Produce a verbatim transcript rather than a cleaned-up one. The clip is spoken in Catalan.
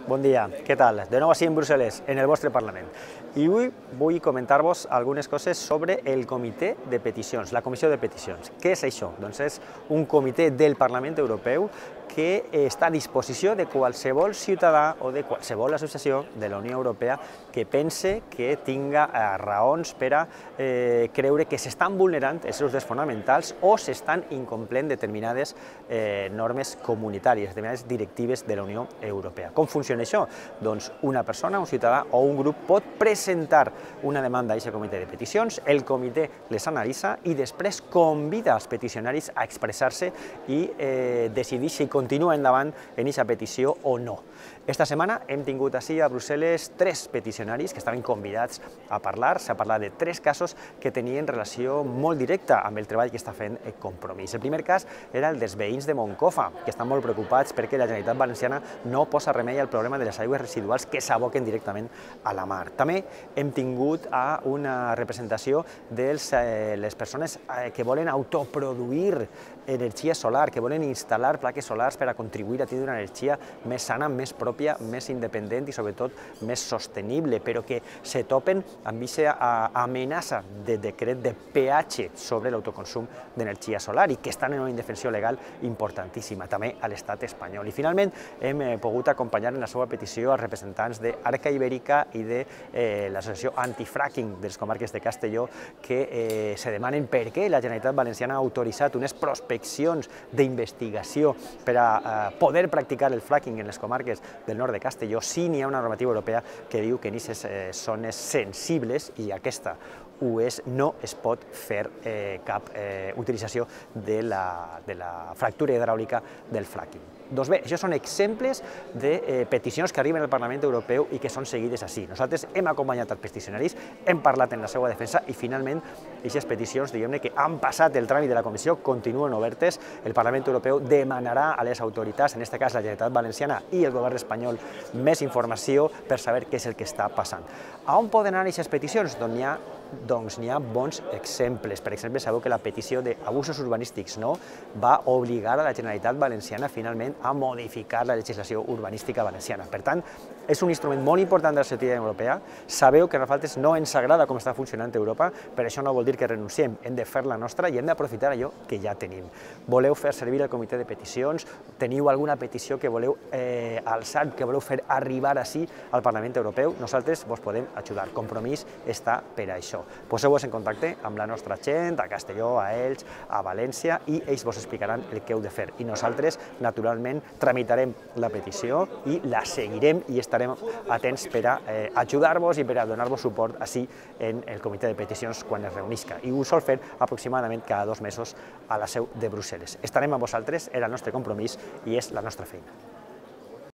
Bon dia, què tal? De nou així en Brussel·les, en el vostre Parlament. I avui vull comentar-vos algunes coses sobre el Comitè de Peticions, la Comissió de Peticions. Què és això? Doncs és un comitè del Parlament Europeu que està a disposició de qualsevol ciutadà o de qualsevol associació de la Unió Europea que pense que tinga raons per a eh, creure que s'estan vulnerant els seus drets fonamentals o s'estan incomplint determinades eh, normes comunitàries, determinades directives de la Unió Europea. Com funciona això? Doncs una persona, un ciutadà o un grup pot presentar una demanda a aquest comitè de peticions, el comitè les analitza i després convida als peticionaris a expressar-se i eh, decidir si continua endavant en aquesta petició o no. Esta setmana hem tingut així a Brussel·les tres peticionaris que estaven convidats a parlar. S'ha parlat de tres casos que tenien relació molt directa amb el treball que està fent Compromís. El primer cas era el dels veïns de Moncofa, que estan molt preocupats perquè la Generalitat Valenciana no posa remei al problema de les aigües residuals que s'aboquen directament a la mar. També hem tingut a una representació de les persones que volen autoproduir energia solar, que volen instal·lar plaques solars per a contribuir a tenir una energia més sana, més pròpia, més independent i sobretot més sostenible, però que se topen amb aquesta amenaça de decret de peatge sobre l'autoconsum d'energia solar i que estan en una indefensió legal importantíssima, també a l'estat espanyol. I finalment hem pogut acompanyar en la seva petició als representants d'Arca Ibèrica i de l'associació antifracking de les comarques de Castelló que se demanen per què la Generalitat Valenciana ha autoritzat unes prospeccions d'investigació per a poder practicar el fracking en les comarques del nord de Castelló si n'hi ha una normativa europea que diu que en aquestes zones sensibles, i aquesta ho és, no es pot fer cap utilització de la fractura hidràulica del fracking. Doncs bé, això són exemples de peticions que arriben al Parlament Europeu i que són seguides així. Nosaltres hem acompanyat els peticionaris, hem parlat en la seva defensa i finalment aquestes peticions, diguem-ne, que han passat el tràmit de la Comissió, continuen obertes. El Parlament Europeu demanarà a les autoritats, en aquest cas la Generalitat Valenciana i el govern espanyol, més informació per saber què és el que està passant. A on poden anar aquestes peticions? Doncs n'hi ha doncs n'hi ha bons exemples. Per exemple, sabeu que la petició d'abusos urbanístics no va obligar a la Generalitat Valenciana finalment a modificar la legislació urbanística valenciana. Per tant, és un instrument molt important de la ciutadania europea. Sabeu que a nosaltres no ens agrada com està funcionant Europa, però això no vol dir que renunciem. Hem de fer la nostra i hem d'aprofitar allò que ja tenim. Voleu fer servir el comitè de peticions? Teniu alguna petició que voleu eh, alçar, que voleu fer arribar així al Parlament Europeu? Nosaltres vos podem ajudar. Compromís està per a això. Poseu-vos en contacte amb la nostra gent, a Castelló, a Elx, a València, i ells vos explicaran el que heu de fer. I nosaltres, naturalment, tramitarem la petició i la seguirem i estarem atents per a ajudar-vos i per a donar-vos suport així en el comitè de peticions quan es reunisca. I ho sol fer aproximadament cada dos mesos a la seu de Brussel·les. Estarem amb vosaltres, era el nostre compromís i és la nostra feina.